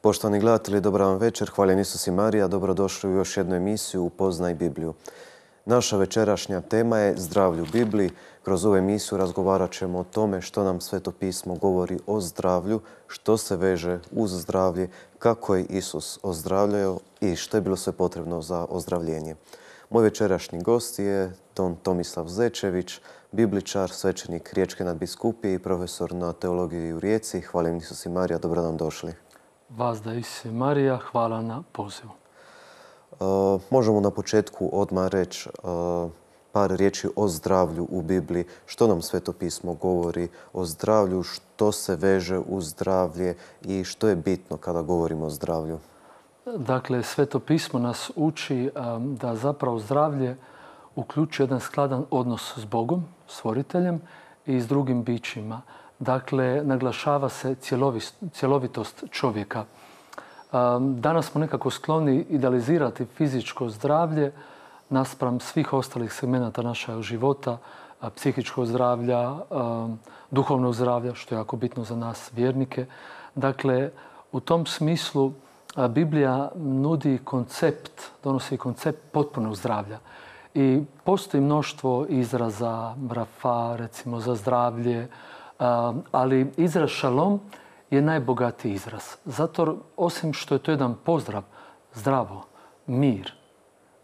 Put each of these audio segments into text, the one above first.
Poštovani gledatelji, dobar vam večer. Hvaljen Isus i Marija. Dobrodošli u još jednu emisiju Upoznaj Bibliju. Naša večerašnja tema je zdravlje u Bibliji. Kroz ovu emisiju razgovarat ćemo o tome što nam Sveto pismo govori o zdravlju, što se veže uz zdravlje, kako je Isus ozdravljao i što je bilo sve potrebno za ozdravljenje. Moj večerašnji gost je don Tomislav Zečević, bibličar, svećenik Riječke nadbiskupije i profesor na teologiji u Rijeci. Hvaljen Isus i Marija, dobro nam došli. Vas da Isus i Marija, hvala na pozivu. Možemo na početku odmah reći par riječi o zdravlju u Bibliji. Što nam Sveto pismo govori o zdravlju, što se veže uz zdravlje i što je bitno kada govorimo o zdravlju? Dakle, Sveto pismo nas uči da zapravo zdravlje uključuje jedan skladan odnos s Bogom, stvoriteljem i s drugim bićima. Dakle, naglašava se cjelovitost čovjeka. Danas smo nekako skloni idealizirati fizičko zdravlje naspram svih ostalih segmenata našeg života, psihičkog zdravlja, duhovnog zdravlja, što je jako bitno za nas vjernike. Dakle, u tom smislu Biblija nudi koncept, donosi koncept potpunog zdravlja. I postoji mnoštvo izraza, rafa, recimo za zdravlje, ali izraz šalom je najbogatiji izraz. Zato, osim što je to jedan pozdrav, zdravo, mir.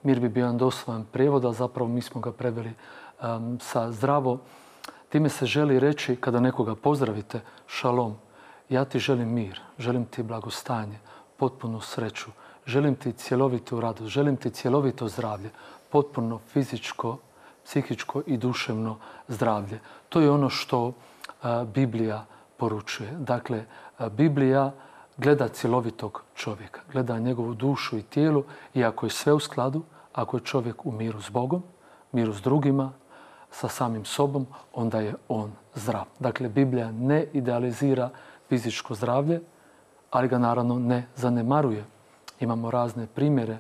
Mir bi bio jedan doslovan prijevod, a zapravo mi smo ga preveli sa zdravo. Time se želi reći, kada nekoga pozdravite, šalom, ja ti želim mir, želim ti blagostanje, potpunu sreću, želim ti cjelovitu radost, želim ti cjelovito zdravlje, potpuno fizičko, psihičko i duševno zdravlje. To je ono što Biblija poručuje. Dakle, Biblija gleda cjelovitog čovjeka, gleda njegovu dušu i tijelo i ako je sve u skladu, ako je čovjek u miru s Bogom, miru s drugima, sa samim sobom, onda je on zdrav. Dakle, Biblija ne idealizira fizičko zdravlje, ali ga naravno ne zanemaruje. Imamo razne primjere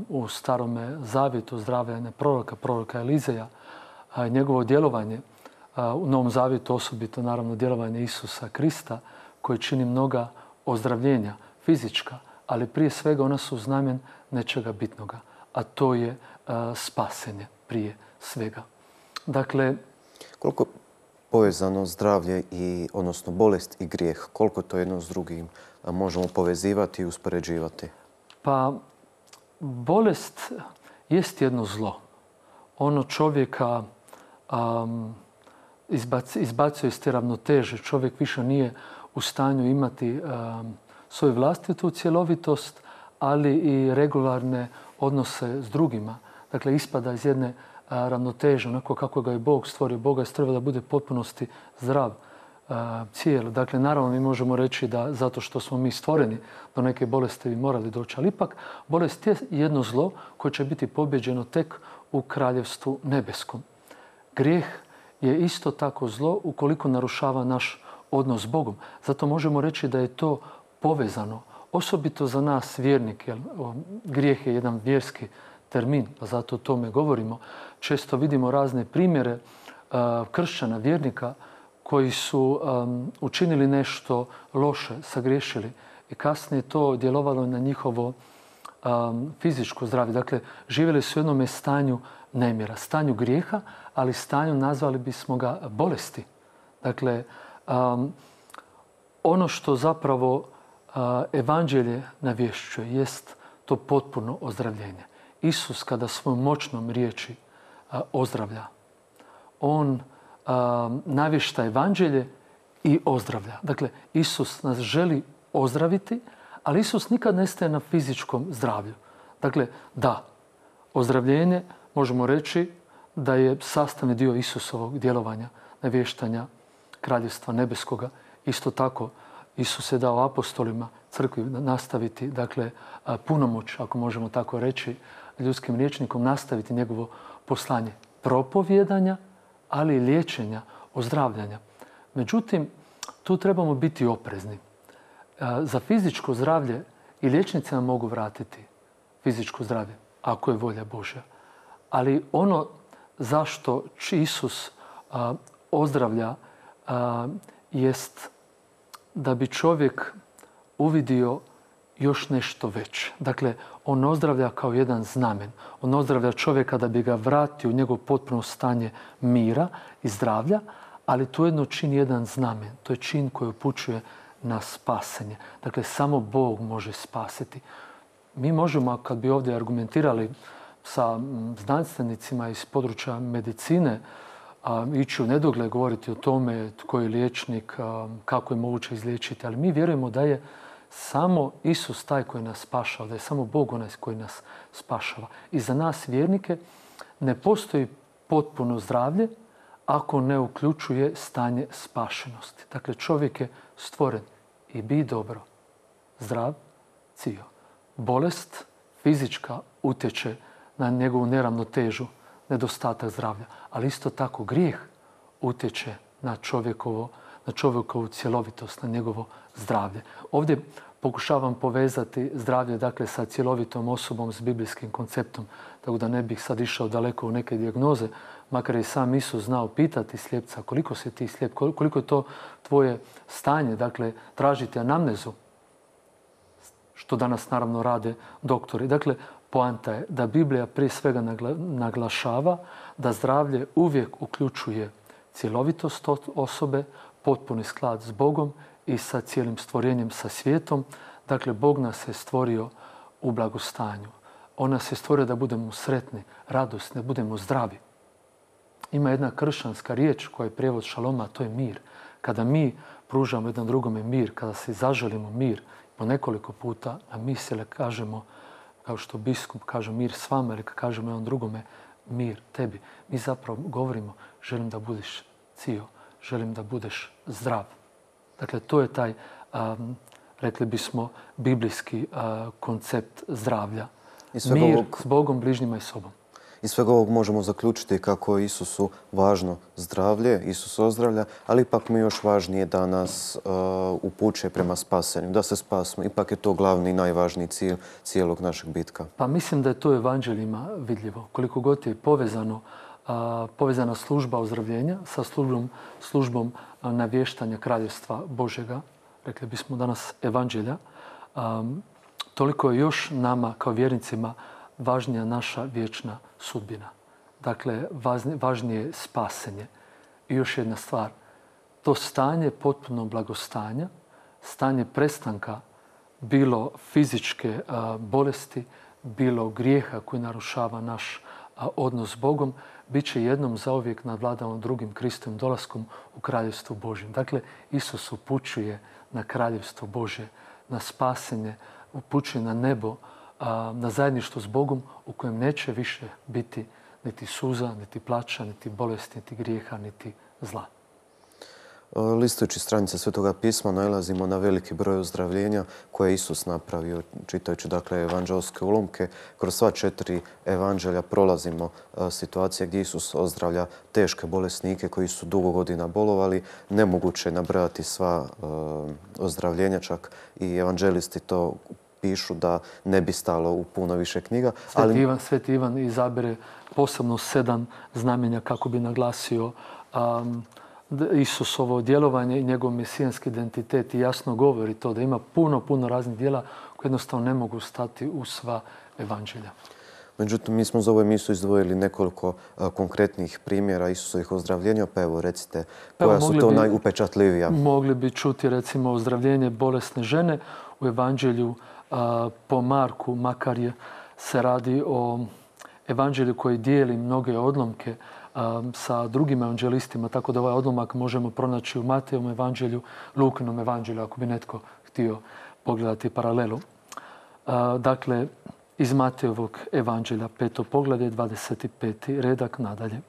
u Starome zavjetu zdravljenja proroka Elizeja, njegovo djelovanje u Novom zavjetu, osobito naravno djelovanje Isusa Krista, koji čini mnoga ozdravljenja fizička, ali prije svega ona su znamen nečega bitnoga, a to je spasenje prije svega. Dakle, koliko povezano zdravlje i, odnosno bolest i grijeh, koliko to jedno s drugim možemo povezivati i uspoređivati? Pa, bolest jest jedno zlo. Ono čovjeka izbacuje iz te ravnoteže. Čovjek više nije u stanju imati svoju vlastitu cjelovitost, ali i regularne odnose s drugima. Dakle, ispada iz jedne ravnoteže, onako kako ga je Bog stvorio. Bog je stvorio da bude potpunosti zdrav, cijelo. Dakle, naravno mi možemo reći da zato što smo mi stvoreni do neke bolesti bi morali doći, ali ipak bolest je jedno zlo koje će biti pobjeđeno tek u kraljevstvu nebeskom. Grijeh je isto tako zlo ukoliko narušava naš odnos s Bogom. Zato možemo reći da je to povezano, osobito za nas vjernike. Grijeh je jedan vjerski termin, pa zato o tome govorimo. Često vidimo razne primjere kršćana, vjernika, koji su učinili nešto loše, sagriješili i kasnije to djelovalo na njihovo fizičko zdravlje. Dakle, živjeli su u jednome stanju nemira, stanju grijeha, ali stanju nazvali bismo ga bolesti. Dakle, ono što zapravo evanđelje navješćuje jest to potpuno ozdravljenje. Isus kada svojom moćnom riječi ozdravlja, on navješta evanđelje i ozdravlja. Dakle, Isus nas želi ozdraviti, ali Isus nikad ne staje na fizičkom zdravlju. Dakle, da, ozdravljenje možemo reći da je sastavni dio Isusovog djelovanja, navještanja kraljevstva nebeskoga. Isto tako, Isus je dao apostolima, crkvi nastaviti, dakle, punomoć, ako možemo tako reći, ljudskim rječnikom nastaviti njegovo poslanje propovjedanja, ali i liječenja, ozdravljanja. Međutim, tu trebamo biti oprezni. Za fizičko zdravlje i liječnici nam mogu vratiti fizičko zdravlje, ako je volja Božja. Ali ono zašto Isus ozdravlja jest da bi čovjek uvidio još nešto veće. Dakle, on ozdravlja kao jedan znamen. On ozdravlja čovjeka da bi ga vratio u njegov potpuno stanje mira i zdravlja, ali to jedno čini jedan znamen. To je čin koji upućuje na spasenje. Dakle, samo Bog može spasiti. Mi možemo, kad bi ovdje argumentirali sa znanstvenicima iz područja medicine, ići u nedogled govoriti o tome tko je liječnik, kako je moguće izliječiti, ali mi vjerujemo da je samo Isus taj koji nas spašava, da je samo Bog onaj koji nas spašava. I za nas vjernike ne postoji potpuno zdravlje ako ne uključuje stanje spašenosti. Dakle, čovjek je stvoren i bi dobro, zdrav, cijel. Bolest fizička utječe na njegovu neravnotežu, nedostatak zdravlja. Ali isto tako grijeh utječe na čovjekovu cjelovitost, na njegovo zdravlje. Ovdje pokušavam povezati zdravlje sa cjelovitom osobom s biblijskim konceptom, tako da ne bih sad išao daleko u neke dijagnoze, makar je i sam Isus znao pitati slijepca koliko si ti slijep, koliko je to tvoje stanje, tražiti anamnezu, što danas naravno rade doktori. Dakle, poanta je da Biblija prije svega naglašava da zdravlje uvijek uključuje cjelovitost osobe, potpuni sklad s Bogom i sa cijelim stvorenjem, sa svijetom. Dakle, Bog nas je stvorio u blagostanju. On nas je stvorio da budemo sretni, radosni, da budemo zdravi. Ima jedna kršćanska riječ koja je prijevod šaloma, a to je mir. Kada mi pružamo jedan drugome mir, kada se zaželimo mir, po nekoliko puta na misele kažemo, kao što biskup kaže mir s vama, ili kad kažemo jednom drugome mir tebi. Mi zapravo govorimo želim da budeš cijel, želim da budeš zdrav. Dakle, to je taj, rekli bismo, biblijski koncept zdravlja. Mir s Bogom, bližnjima i sobom. Iz svega ovog možemo zaključiti kako je Isusu važno zdravlje, Isus ozdravlja, ali ipak mi još važnije da nas upućuje prema spasenju, da se spasimo. Ipak je to glavni i najvažniji cilj cijelog našeg bitka. Pa mislim da je to u evanđeljima vidljivo. Koliko god je povezana služba ozdravljenja sa službom navještanja kraljevstva Božjega, rekli bismo danas evanđelja, toliko je još nama kao vjernicima važnija naša vječna sudbina. Dakle, važnije je spasenje. I još jedna stvar, to stanje potpunog blagostanja, stanje prestanka bilo fizičke bolesti, bilo grijeha koji narušava naš odnos s Bogom, bit će jednom zauvijek nadvladano drugim Kristovim dolaskom u kraljevstvu Božjem. Dakle, Isus upućuje na kraljevstvo Božje, na spasenje, upućuje na nebo, na zajedništvo s Bogom u kojem neće više biti niti suza, niti plača, niti bolesti, niti grijeha, niti zla. Listujući stranice Svetoga pisma nailazimo na veliki broj ozdravljenja koje je Isus napravio. Čitajući evanđelske ulomke, kroz sva 4 evanđelja prolazimo situacije gdje Isus ozdravlja teške bolesnike koji su dugo godina bolovali. Nemoguće je nabrojati sva ozdravljenja, čak i evanđelisti to pišu da ne bi stalo u puno više knjiga. Sveti Ivan izabere posebno 7 znamenja kako bi naglasio Isusovo djelovanje i njegov mesijanski identitet i jasno govori to da ima puno raznih djela koje jednostavno ne mogu stati u sva evanđelja. Međutim, mi smo za ovu emisiju izdvojili nekoliko konkretnih primjera Isusovih ozdravljenja, pa evo recite koja su to najupečatljivija. Mogli bi čuti recimo ozdravljenje bolesne žene u evanđelju po Marku, makar se radi o evanđelju koji dijeli mnoge odlomke sa drugim evanđelistima, tako da ovaj odlomak možemo pronaći u Matejovom evanđelju, Lukinom evanđelju, ako bi netko htio pogledati paralelu. Dakle, iz Matejovog evanđelja, 5. poglavlje, 25. redak nadalje.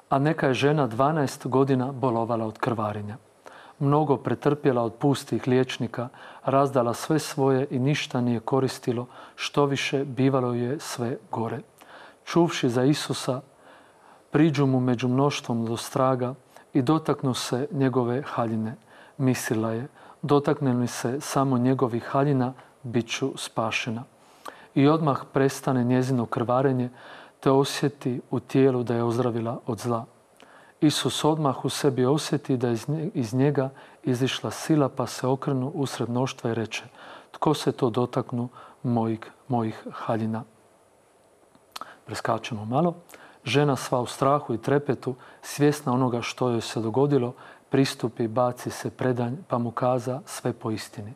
A neka je žena 12 godina bolovala od krvarenja. Mnogo pretrpjela od pustih liječnika, razdala sve svoje i ništa nije koristilo, što više bivalo je sve gore. Čuvši za Isusa, priđu mu među mnoštvom do straga i dotaknu se njegove haljine. Mislila je, dotakne li se samo njegovih haljina, bit ću spašena. I odmah prestane njezino krvarenje, te osjeti u tijelu da je ozdravila od zla. Isus odmah u sebi osjeti da je iz njega izišla sila, pa se okrenu usred mnoštva i reče: tko se to dotaknu mojih haljina. Preskačemo malo. Žena sva u strahu i trepetu, svjesna onoga što joj se dogodilo, pristupi, baci se predanj, pa mu kaza sve po istini.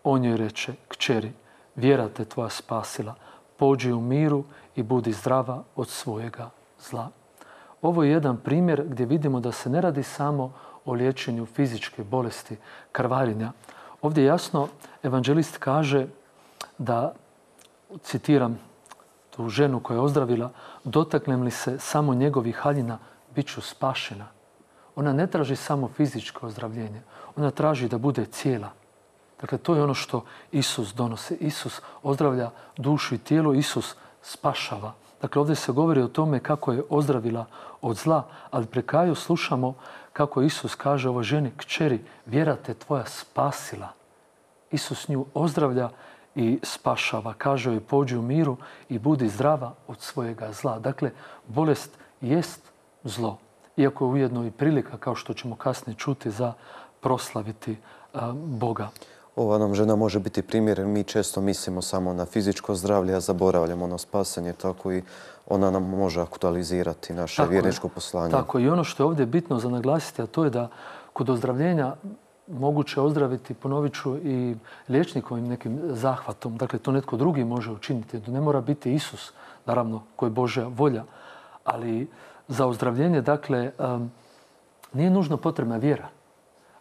On joj reče, kćeri, vjera te tvoja spasila, pođi u miru i budi zdrava od svojega zla. Ovo je jedan primjer gdje vidimo da se ne radi samo o liječenju fizičke bolesti, krvarenja. Ovdje jasno evanđelist kaže da, citiram tu ženu koja je ozdravila, dotaknem li se samo njegovih haljina, bit ću spašena. Ona ne traži samo fizičko ozdravljenje, ona traži da bude cijela. Dakle, to je ono što Isus donosi. Isus ozdravlja dušu i tijelo, Isus spašava. Dakle, ovdje se govori o tome kako je ozdravila od zla, ali pri kraju slušamo kako Isus kaže ovoj ženi, kćeri, vjera te tvoja spasila. Isus nju ozdravlja i spašava. Kaže joj, pođi u miru i budi zdrava od svojega zla. Dakle, bolest jest zlo. Iako je ujedno i prilika, kao što ćemo kasnije čuti, za proslaviti Boga. Ova nam žena može biti primjer, jer mi često mislimo samo na fizičko zdravlje, a zaboravljamo na spasenje, tako i ona nam može aktualizirati naše vjerničko poslanje. Tako i ono što je ovdje bitno za naglasiti, a to je da kod ozdravljenja moguće ozdraviti, ponovit ću, i liječnikovim nekim zahvatom. Dakle, to netko drugi može učiniti. To ne mora biti Isus, naravno, koji je Božja volja. Ali za ozdravljenje, dakle, nije nužno potrebna vjera.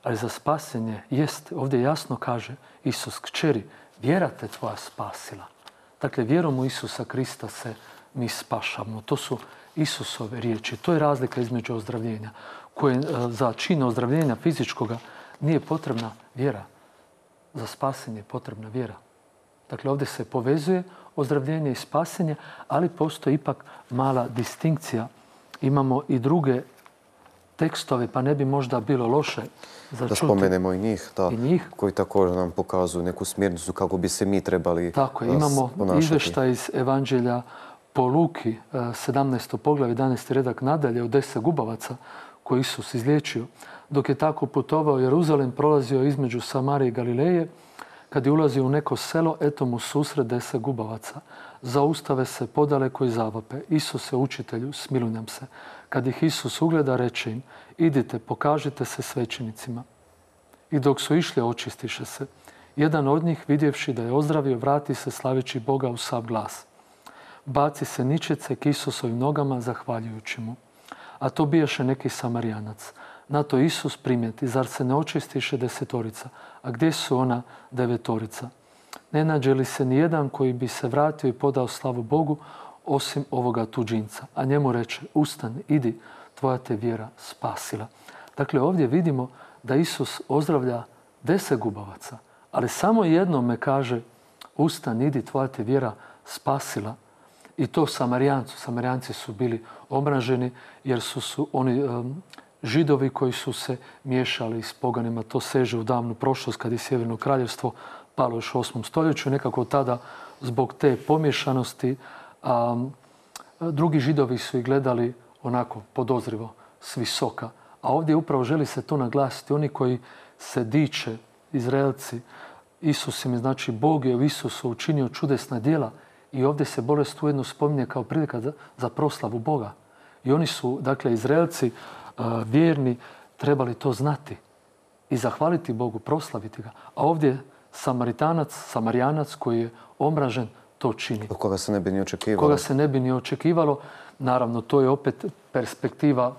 Ali za spasenje jest, ovdje jasno kaže Isus, kćeri, vjera te tvoja spasila. Dakle, vjerom u Isusa Krista se mi spašavamo. To su Isusove riječi. To je razlika između ozdravljenja. Koje za čin ozdravljenja fizičkoga nije potrebna vjera. Za spasenje je potrebna vjera. Dakle, ovdje se povezuje ozdravljenje i spasenje, ali postoji ipak mala distinkcija. Imamo i druge tekstove, pa ne bi možda bilo loše da spomenemo i njih, koji također nam pokazuju neku smjernicu kako bi se mi trebali Tako je, imamo izvještaj iz Evanđelja po Luki, 17. poglavlje, 11. redak nadalje, od 10 gubavaca koje Isus izliječio. Dok je tako putovao Jeruzalem, prolazio između Samarije i Galileje. Kad je ulazio u neko selo, eto mu susret 10 gubavaca. Zaustave se podaleko i zavape. Isuse, učitelju, smiluj nam se. Kad ih Isus ugleda, reče im, idite, pokažite se svećenicima. I dok su išli, očistiše se. Jedan od njih, vidjevši da je ozdravio, vrati se slaveći Boga u sav glas. Baci se ničice k Isusovim nogama, zahvaljujući mu. A to bijaše neki Samarijanac. Na to Isus primijeti, zar se ne očistiše 10, a gdje su ona 9? Ne nađe li se nijedan koji bi se vratio i podao slavu Bogu, osim ovoga tuđinca. A njemu reče, ustani, idi, tvoja te vjera spasila. Dakle, ovdje vidimo da Isus ozdravlja 10 gubavaca, ali samo jednome kaže, ustani, idi, tvoja te vjera spasila. I to Samarijancu. Samarijanci su bili omraženi jer su oni Židovi koji su se miješali s poganima. To seže u davnu prošlost kad je Sjeverno kraljevstvo palo još u 8. stoljeću. Nekako tada zbog te pomješanosti drugi Židovi su ih gledali onako podozrivo s visoka. A ovdje upravo želi se to naglasiti. Oni koji se diče, Izraelci, Isus im, znači Bog je u Isusu učinio čudesna djela i ovdje se bolest ujedno spominje kao prilika za proslavu Boga. I oni su, dakle, Izraelci vjerni, trebali to znati i zahvaliti Bogu, proslaviti ga. A ovdje Samarijanac koji je omražen to čini. Od koga se ne bi ni očekivalo. Koga se ne bi ni očekivalo. Naravno, to je opet perspektiva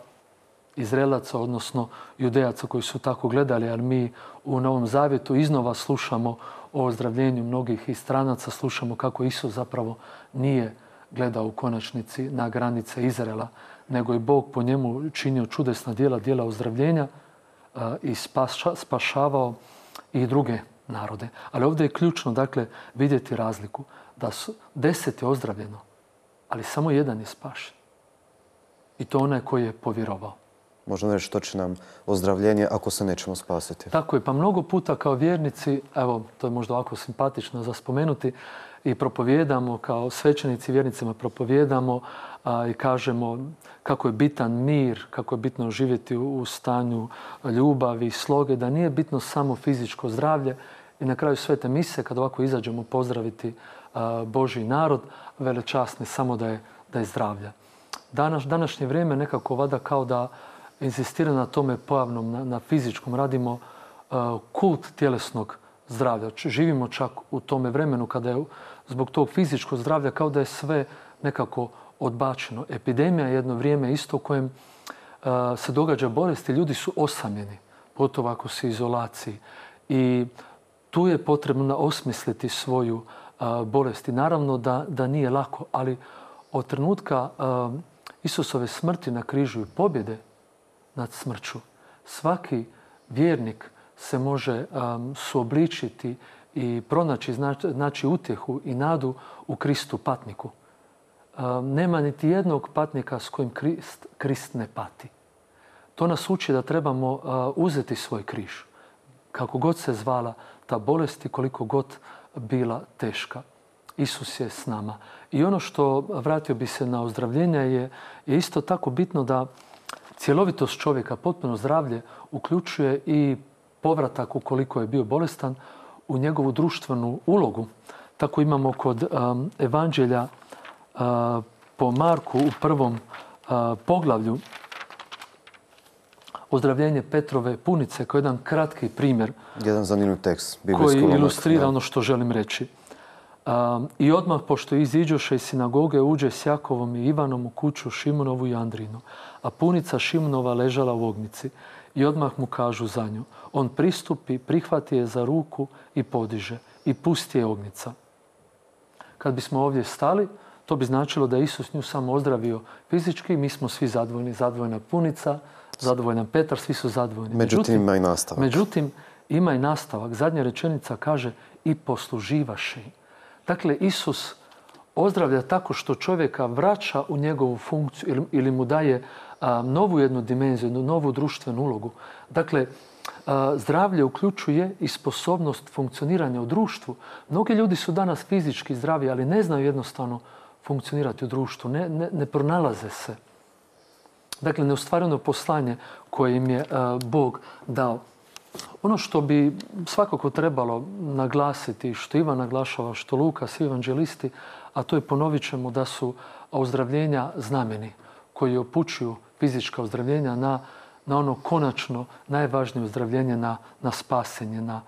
Izraelaca, odnosno Judejaca koji su tako gledali, ali mi u Novom Zavjetu iznova slušamo o ozdravljenju mnogih i stranaca, slušamo kako Isus zapravo nije gledao u konačnici na granice Izraela, nego je Bog po njemu činio čudesna djela ozdravljenja i spašavao i druge narode. Ali ovdje je ključno, dakle, vidjeti razliku. Da su 10 je ozdravljeno, ali samo jedan je spašen. I to onaj koji je povjerovao. Možemo reći što će nam ozdravljenje ako se nećemo spasiti. Tako je, pa mnogo puta kao vjernici, evo, to je možda ovako simpatično za spomenuti, i propovijedamo, kao svećenici vjernicima propovijedamo i kažemo kako je bitan mir, kako je bitno živjeti u stanju ljubavi i sloge, da nije bitno samo fizičko zdravlje i na kraju svete mise, kad ovako izađemo pozdraviti Božji narod, velečasni samo da je zdravlja. Današnje vrijeme nekako vada kao da insistira na tome pojavnom, na fizičkom. Radimo kult tjelesnog zdravlja. Živimo čak u tome vremenu kada je zbog tog fizičkog zdravlja kao da je sve nekako odbačeno. Epidemija je jedno vrijeme isto u kojem se događa bolesti. Ljudi su osamljeni, pogotovo ako su u izolaciji. I tu je potrebno osmisliti svoju bolest. I naravno da nije lako, ali od trenutka Isusove smrti na križu i pobjede nad smrću, svaki vjernik se može suobličiti i pronaći utjehu i nadu u Kristu patniku. Nema niti jednog patnika s kojim Krist ne pati. To nas uči da trebamo uzeti svoj križ, kako god se zvala ta bolest i koliko god bila teška. Isus je s nama. I ono što, vratio bi se na ozdravljenje, je isto tako bitno da cjelovitost čovjeka, potpuno zdravlje, uključuje i povratak ukoliko je bio bolestan u njegovu društvenu ulogu. Tako imamo kod Evanđelja po Marku u prvom poglavlju ozdravljenje Petrove punice kao jedan kratki primjer. Jedan zanimljiv tekst. Koji ilustrira ono što želim reći. I odmah, pošto iziđoše iz sinagoge, uđe s Jakovom i Ivanom u kuću Šimonovu i Andrinu, a punica Šimonova ležala u ognjici. I odmah mu kažu za nju. On pristupi, prihvati je za ruku i podiže. I pusti je ognjica. Kad bismo ovdje stali, to bi značilo da je Isus nju samo ozdravio fizički. Mi smo svi zadovoljni. Zadovoljna punica, zadovoljan Petar, svi su zadovoljni. Međutim, ima i nastavak. Međutim, ima i nastavak. Zadnja rečenica kaže i posluživaše. Dakle, Isus ozdravlja tako što čovjeka vraća u njegovu funkciju ili mu daje novu jednu dimenziju, jednu novu društvenu ulogu. Dakle, zdravlje uključuje i sposobnost funkcioniranja u društvu. Mnogi ljudi su danas fizički zdravi, ali ne znaju jednostavno funkcionirati u društvu. Ne pronalaze se. Dakle, neostvareno poslanje koje im je Bog dao. Ono što bi svakako trebalo naglasiti, što Ivan naglašava, što Luka, svi evanđelisti, a to je, ponovit ćemo, da su ozdravljenja znameni koji upućuju fizička ozdravljenja na ono konačno najvažnije ozdravljenje, na spasenje, na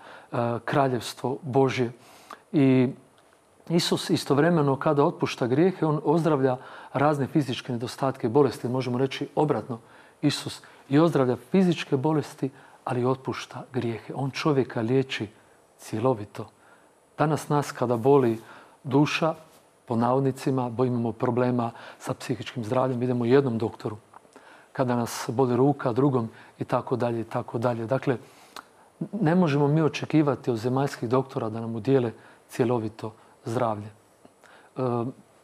kraljevstvo Božje. I Isus istovremeno kada otpušta grijehe, on ozdravlja razne fizičke nedostatke i bolesti. Možemo reći obratno, Isus i ozdravlja fizičke bolesti, ali otpušta grijehe. On čovjeka liječi cjelovito. Danas nas kada boli duša, po navodnicima, bo imamo problema sa psihičkim zdravljem, idemo jednom doktoru. Kada nas boli ruka, drugom i tako dalje i tako dalje. Dakle, ne možemo mi očekivati od zemaljskih doktora da nam udijele cjelovito zdravlje.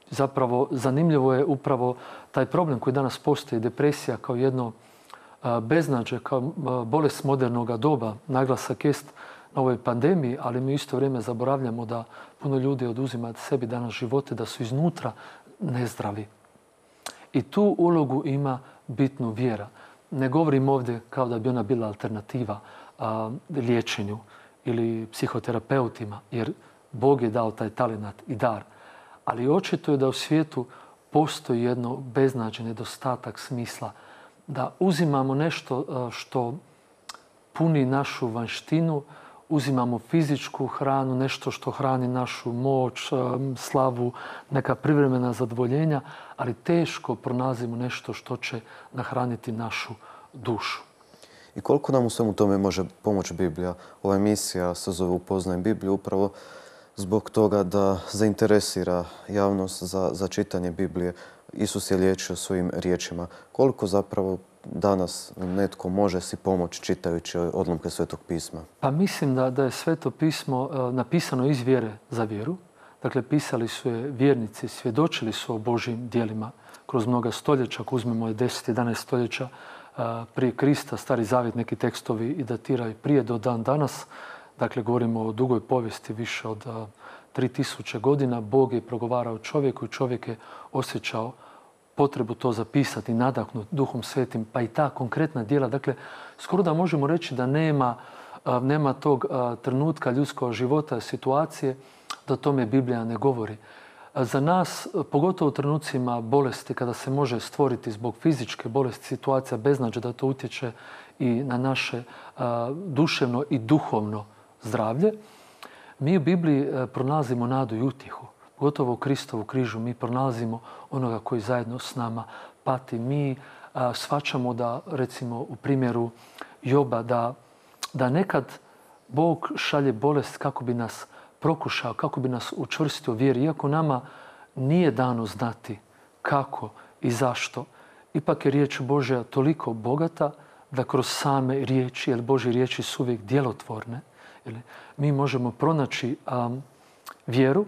Zapravo, zanimljivo je upravo taj problem koji danas postoji, depresija kao jedno beznađe, kao bolest modernog doba. Naglasak jest na ovoj pandemiji, ali mi isto vrijeme zaboravljamo da puno ljudi oduzima sebi danas živote, da su iznutra nezdravi. I tu ulogu ima bitnu vjera. Ne govorim ovdje kao da bi ona bila alternativa liječenju ili psihoterapeutima, jer Bog je dao taj talenat i dar. Ali očito je da u svijetu postoji jedno beznađe, nedostatak smisla, da uzimamo nešto što puni našu vanštinu, uzimamo fizičku hranu, nešto što hrani našu moć, slavu, neka privremena zadovoljenja, ali teško pronalazimo nešto što će nahraniti našu dušu. I koliko nam u svemu tome može pomoći Biblija? Ova emisija se zove Upoznaj Bibliju upravo zbog toga da zainteresira javnost za čitanje Biblije. Isus je liječio svojim riječima. Koliko zapravo danas netko može si pomoći čitajući odlomke Svetog pisma? Pa mislim da je Sveto pismo napisano iz vjere za vjeru. Dakle, pisali su je vjernici, svjedočili su o Božjim djelima kroz mnoga stoljeća. Ako uzmemo 10-11 stoljeća prije Krista, Stari zavjet, neki tekstovi i datiraju prije do dan danas. Dakle, govorimo o dugoj povijesti, više od 3000 godina. Bog je progovarao čovjeku i čovjek je osjećao potrebu to zapisati, nadahnut Duhom Svetim, pa i ta konkretna djela. Dakle, skoro da možemo reći da nema nema tog trenutka ljudskog života, situacije, da o tome Biblija ne govori. Za nas, pogotovo u trenucima bolesti, kada se može stvoriti zbog fizičke bolesti situacija beznađa, da to utječe i na naše duševno i duhovno zdravlje, mi u Bibliji pronalazimo nadu i utjehu. Pogotovo u Kristovu križu mi pronalazimo onoga koji zajedno s nama pati. Mi shvaćamo da, recimo u primjeru Joba, da nekad Bog šalje bolest kako bi nas prokušao, kako bi nas učvrstio u vjeri. Iako nama nije dano znati kako i zašto, ipak je riječ Božja toliko bogata da kroz same riječi, jer Božje riječi su uvijek djelotvorne, mi možemo pronaći vjeru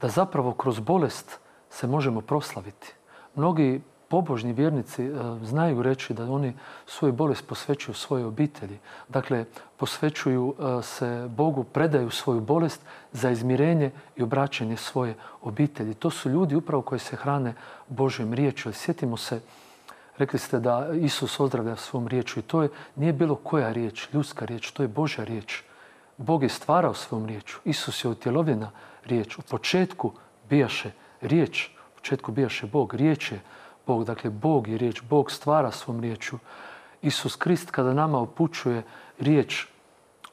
da zapravo kroz bolest se možemo proslaviti. Mnogi pobožni vjernici znaju reći da oni svoju bolest posvećuju svojoj obitelji. Dakle, posvećuju se Bogu, predaju svoju bolest za izmirenje i obraćanje svoje obitelji. To su ljudi upravo koji se hrane Božjom riječju. Sjetimo se, rekli ste da Isus ozdravlja svom riječju i to nije bilo koja riječ, ljudska riječ, to je Božja riječ. Bog je stvarao svom riječu. Isus je utjelovljena riječ. U početku bijaše riječ, u početku bijaše Bog, riječ je Bog. Dakle, Bog je riječ, Bog stvara svom riječu. Isus Krist kada nama upućuje riječ,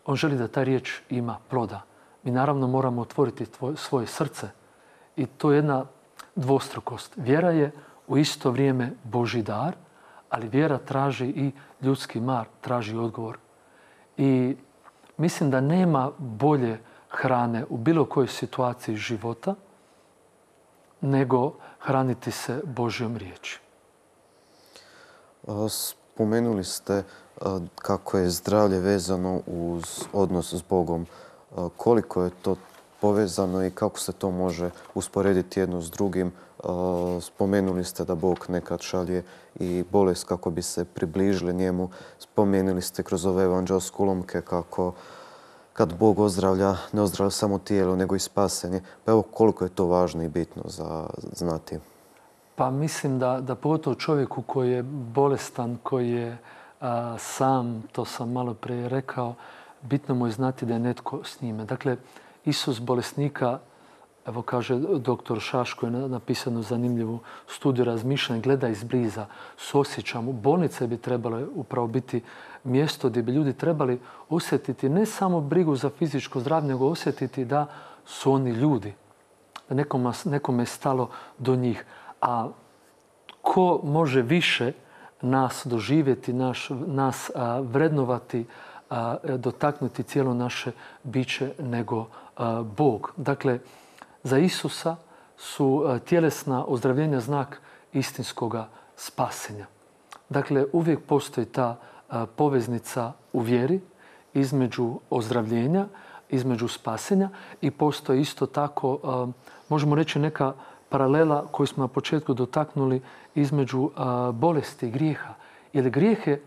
on želi da ta riječ ima ploda. Mi naravno moramo otvoriti svoje srce i to je jedna dvostrukost. Vjera je u isto vrijeme Božji dar, ali vjera traži i ljudski mar, traži odgovor. I mislim da nema bolje hrane u bilo kojoj situaciji života nego hraniti se Božjom riječi. Spomenuli ste kako je zdravlje vezano uz odnos s Bogom. Koliko je to povezano i kako se to može usporediti jedno s drugim? Spomenuli ste da Bog nekad šalje i bolest kako bi se približili njemu. Spomenuli ste kroz ove evanđelske ulomke kako kad Bog ozdravlja, ne ozdravlja samo tijelo, nego i spasenje. Pa evo koliko je to važno i bitno za znati. Pa mislim da pogotovo čovjeku koji je bolestan, koji je sam, to sam malo prije rekao, bitno mu je znati da je netko s njime. Dakle, Isus bolesnika, evo kaže doktor Šaško, je napisano zanimljivu studiju razmišljanja, gleda izbliza, suosjeća mu. Bolnice bi trebale upravo biti mjesto gdje bi ljudi trebali osjetiti ne samo brigu za fizičko zdravlje, nego osjetiti da su oni ljudi. Da nekome je stalo do njih. A ko može više nas doživjeti, nas vrednovati, dotaknuti cijelo naše biće nego Bog. Dakle, za Isusa su tjelesna ozdravljenja znak istinskoga spasenja. Dakle, uvijek postoji ta poveznica u vjeri između ozdravljenja, između spasenja i postoji isto tako, možemo reći, neka paralela koju smo na početku dotaknuli između bolesti i grijeha. Jer grijeh je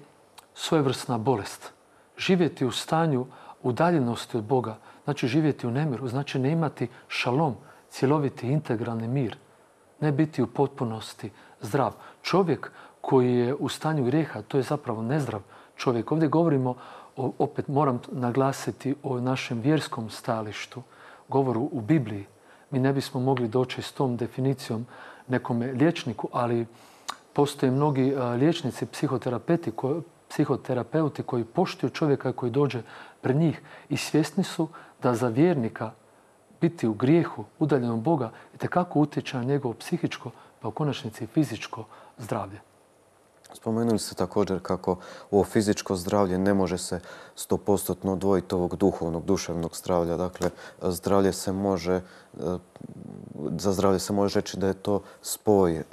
svojevrsna bolest. Živjeti u stanju udaljenosti od Boga, znači živjeti u nemiru, znači ne imati šalom, cjeloviti integralni mir, ne biti u potpunosti zdrav. Čovjek koji je u stanju grijeha, to je zapravo nezdrav čovjek. Ovdje govorimo, opet moram naglasiti, o našem vjerskom stajalištu, govoru u Bibliji. Mi ne bismo mogli doći s tom definicijom nekome liječniku, ali postoje mnogi liječnici, psihoterapeuti koji poštuju čovjeka koji dođe pred njih i svjesni su da za vjernika biti u grijehu, udaljen od Boga, itekako utječe na njegovo psihičko, pa u konačnici i fizičko zdravlje. Spomenuli ste također kako ovo fizičko zdravlje ne može se 100% odvojiti ovog duhovnog, duševnog zdravlja. Dakle, za zdravlje se može reći da je to spoj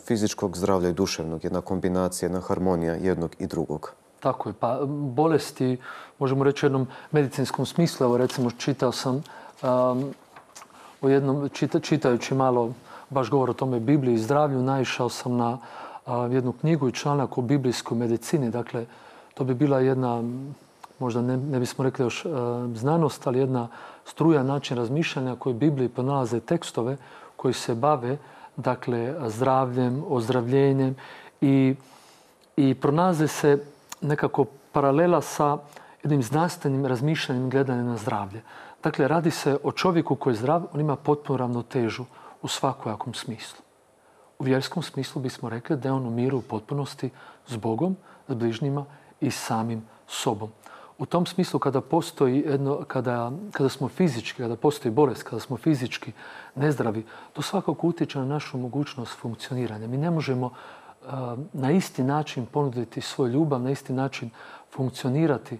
fizičkog zdravlja i duševnog, jedna kombinacija, jedna harmonija jednog i drugog. Tako je. Pa bolesti, možemo reći u jednom medicinskom smislu, evo recimo čitao sam čitajući malo baš govor o tome Bibliji i zdravlju, naišao sam na jednu knjigu i članak o biblijskoj medicini. Dakle, to bi bila jedna, možda ne bismo rekli još znanost, ali jedna struja, način razmišljanja koji u Bibliji pronalaze tekstove koji se bave, dakle, zdravljem, ozdravljenjem i pronalaze se nekako paralela sa jednim znanstvenim razmišljanjem i gledanjem na zdravlje. Dakle, radi se o čovjeku koji je zdrav, on ima potpunu ravnotežu u svakojakom smislu. U vjerskom smislu bismo rekli da je on u miru u potpunosti s Bogom, s bližnjima i samim sobom. U tom smislu kada smo fizički, kada postoji bolest, kada smo fizički nezdravi, to svakako utječe na našu mogućnost funkcioniranja. Mi ne možemo na isti način ponuditi svoju ljubav, na isti način funkcionirati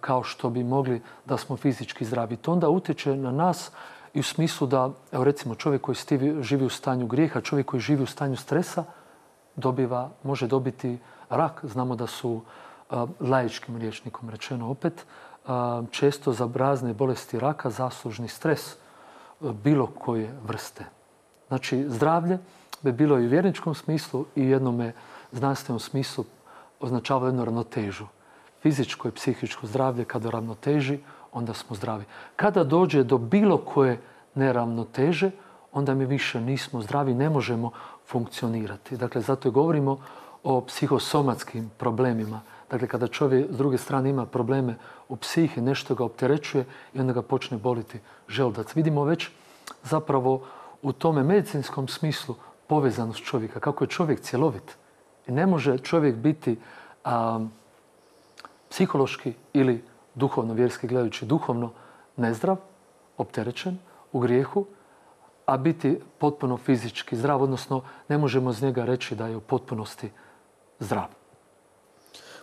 kao što bi mogli da smo fizički zdravi. To onda utječe na nas i u smislu da, evo recimo, čovjek koji živi u stanju grijeha, čovjek koji živi u stanju stresa, može dobiti rak. Znamo da su laičkim rječnikom rečeno opet, često za razne bolesti raka zaslužni stres bilo koje vrste. Znači, zdravlje bi bilo i u vjerničkom smislu i u jednome znanstvenom smislu označava jednu ravnotežu. Fizičko i psihičko zdravlje kada ravnoteži, onda smo zdravi. Kada dođe do bilo koje neravnoteže, onda mi više nismo zdravi, ne možemo funkcionirati. Dakle, zato i govorimo o psihosomatskim problemima. Dakle, kada čovjek s druge strane ima probleme u psihi, nešto ga opterećuje i onda ga počne boliti želudac. Vidimo već zapravo u tome medicinskom smislu povezanost čovjeka, kako je čovjek cjelovit. I ne može čovjek biti psihološki ili duhovno, vjerski gledajući, duhovno nezdrav, opterećen, u grijehu, a biti potpuno fizički zdrav, odnosno ne možemo iz njega reći da je u potpunosti zdrav.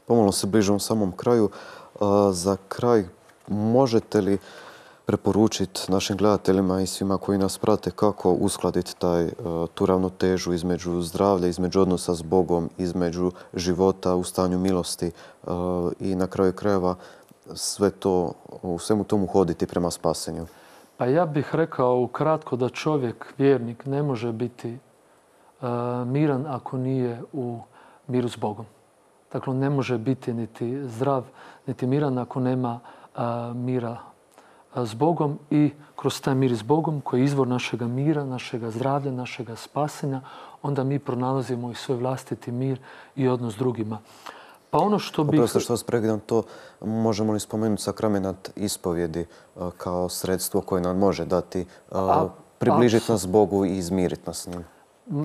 Pomalo se bližimo samom kraju. Za kraj, možete li preporučiti našim gledateljima i svima koji nas prate kako uskladiti tu ravnotežu između zdravlja, između odnosa s Bogom, između života u stanju milosti i na kraju krajeva u svemu tomu hoditi prema spasenju? Pa ja bih rekao ukratko da čovjek, vjernik, ne može biti miran ako nije u miru s Bogom. Dakle, on ne može biti niti zdrav, niti miran ako nema mira s Bogom i kroz taj mir s Bogom koji je izvor našega mira, našega zdravlja, našega spasenja, onda mi pronalazimo i svoj vlastiti mir i odnos s drugima. Pa ono što bih... Oprosti što vas prekidam, to možemo li spomenuti sakrament ispovjedi kao sredstvo koje nam može dati, približiti nas Bogu i izmiriti nas s njim?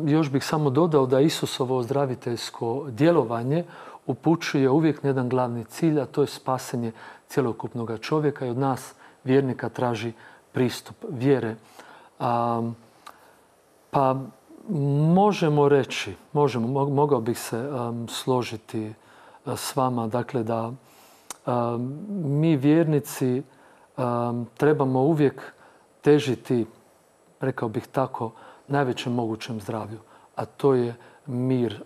Još bih samo dodao da Isusovo ozdraviteljsko djelovanje upućuje uvijek na jedan glavni cilj, a to je spasenje cjelokupnog čovjeka i od nas vjernika traži pristup vjere. Pa možemo reći, mogao bih se složiti s vama, dakle da mi vjernici trebamo uvijek težiti, rekao bih tako, najvećem mogućem zdravlju, a to je mir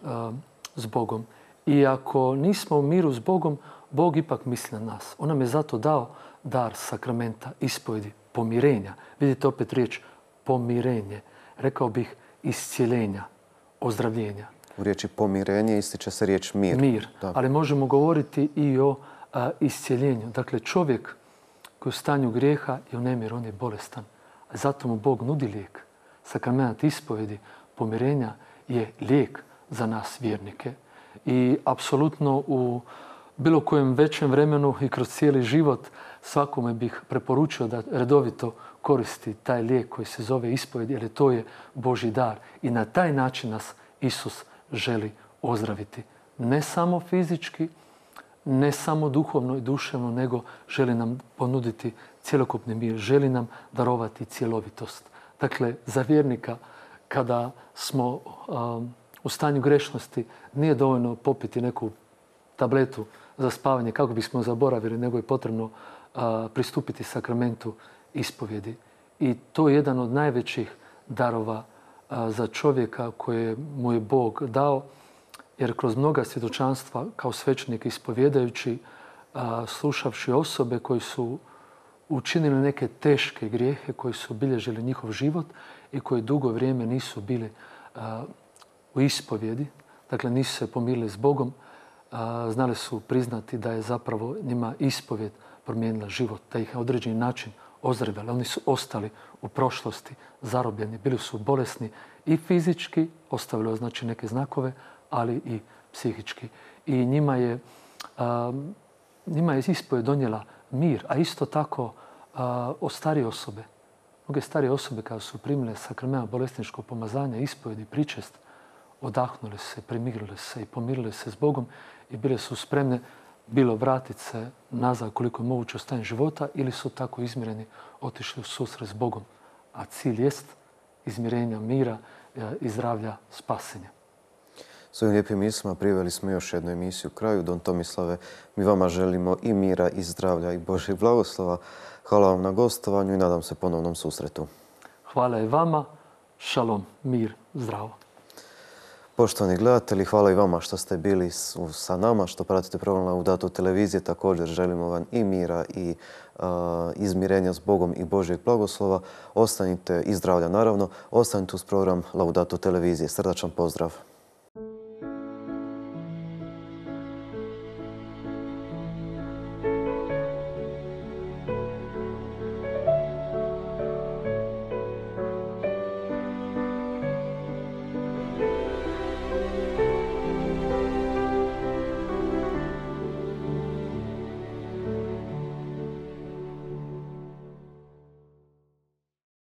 s Bogom. I ako nismo u miru s Bogom, Bog ipak misli na nas. On nam je zato dao dar sakramenta, ispovjedi, pomirenja. Vidite opet riječ pomirenje. Rekao bih iscijeljenja, ozdravljenja. U riječi pomirenje ističe se riječ mir. Mir, ali možemo govoriti i o iscijeljenju. Dakle, čovjek koji je u stanju grijeha je u nemiru, on je bolestan. A zato mu Bog nudi lijek. Sakrament ispovjedi, pomirenja je lijek za nas vjernike. I apsolutno u bilo kojem većem vremenu i kroz cijeli život svakome bih preporučio da redovito koristi taj lijek koji se zove ispovjed, jer to je Božji dar. I na taj način nas Isus želi ozdraviti. Ne samo fizički, ne samo duhovno i duševno, nego želi nam ponuditi cjelokupni mir, želi nam darovati cjelovitost. Dakle, za vjernika kada smo u stanju grešnosti nije dovoljno popiti neku tabletu za spavanje kako bismo zaboravili, nego je potrebno pristupiti sakramentu ispovjedi. I to je jedan od najvećih darova za čovjeka koje mu je Bog dao, jer kroz mnoga svjedočanstva kao svećenik ispovjedajući, slušavši osobe koji su učinili neke teške grijehe, koji su obilježili njihov život i koji dugo vrijeme nisu bili u ispovjedi, dakle nisu se pomirili s Bogom, znali su priznati da je zapravo njima ispovjed promijenila život, da ih na određeni način ozdravila. Oni su ostali u prošlosti zarobljeni, bili su bolesni i fizički, ostavili neke znakove, ali i psihički. I njima je njima je ispovijed donijela mir, a isto tako od starije osobe. Mnoge starije osobe kada su primile sakrament bolesničkog pomazanja, ispovijed i pričest, odahnule se, primirile se i pomirile se s Bogom i bile su spremne bilo vratiti se nazad koliko je moguće u stanje života ili su tako izmireni otišli u susret s Bogom. A cilj jest izmirenja, mira i zdravlja, spasenja. S ovim lijepim mislima priveli smo još jednu emisiju kraju. Don Tomislave, mi vama želimo i mira i zdravlja i Božjeg blagoslova. Hvala vam na gostovanju i nadam se ponovnom susretu. Hvala i vama. Šalom, mir, zdravo. Poštovani gledatelji, hvala i vama što ste bili sa nama, što pratite program Laudato televizije. Također želimo vam i mira i izmirenja s Bogom i Božjeg blagoslova. Ostanite i zdravlja naravno. Ostanite uz program Laudato televizije. Srdačan pozdrav.